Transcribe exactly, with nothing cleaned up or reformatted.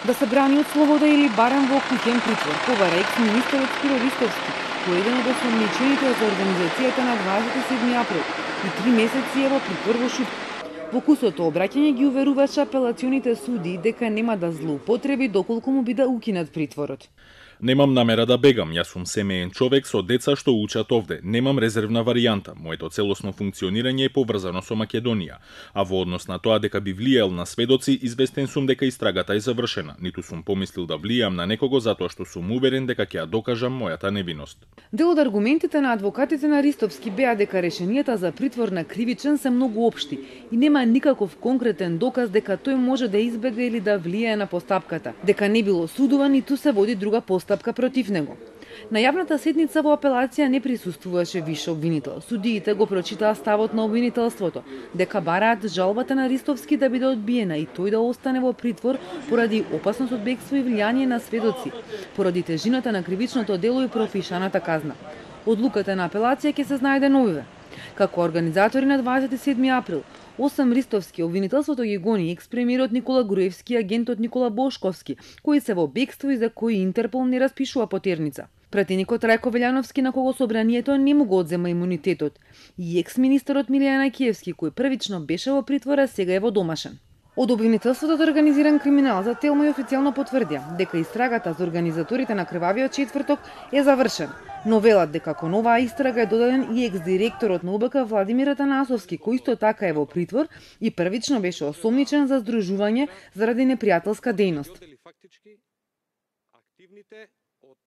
да се брани од слобода или барем во куќен притвор, побара екс-министерот Спиро Ристовски, кој е еден од осомничените за организацијата на дваесет и седми април и три месеци е во притвор во Шупка. Во кусото обраќање ги уверуваше апелационите суди дека нема да злоупотреби доколку му биде укинат притворот. Немам намера да бегам, јас сум семеен човек со деца што учат овде. Немам резервна варијанта. Моето целосно функционирање е поврзано со Македонија, а во однос на тоа дека би влијал на сведоци, известен сум дека истрагата е завршена. Ниту сум помислил да влијам на некого затоа што сум уверен дека ќе ја докажам мојата невиност. Дел од аргументите на адвокатите на Ристовски беа дека решенијата за притвор на кривичен се многу општи и нема никаков конкретен доказ дека тој може да избега или да влијае на постапката, дека не било судуван ниту се води друга постапка против него. На јавната седница во апелација не присуствуваше више обвинител. Судиите го прочитаа ставот на обвинителството, дека бараат жалбата на Ристовски да биде одбиена и тој да остане во притвор поради опасност од бегство и влијание на сведоци, поради тежината на кривичното дело и пропишаната казна. Одлуката на апелација ќе се знае деновиве. Како организатори на дваесет и седми април, осам Ристовски, обвинителството ги гони екс-премиерот Никола Груевски и агентот Никола Бошковски, кои се во бегство и за кои Интерпол не распишува потерница. Пратеникот Рајко Велјановски, на кого собранието не му го одзема имунитетот, и екс-министерот Милијан Ајкиевски, кој првично беше во притвора, сега е во домашен. Од обвинителството од организиран криминал за Телмо официјално потврдија дека истрагата за организаторите на крвавиот четврток е завршена, но велат дека кон оваа истрага е додаден и екс-директорот на У Б К Владимир Атанасовски, кој исто така е во притвор и првично беше осомничен за здружување заради непријателска дејност.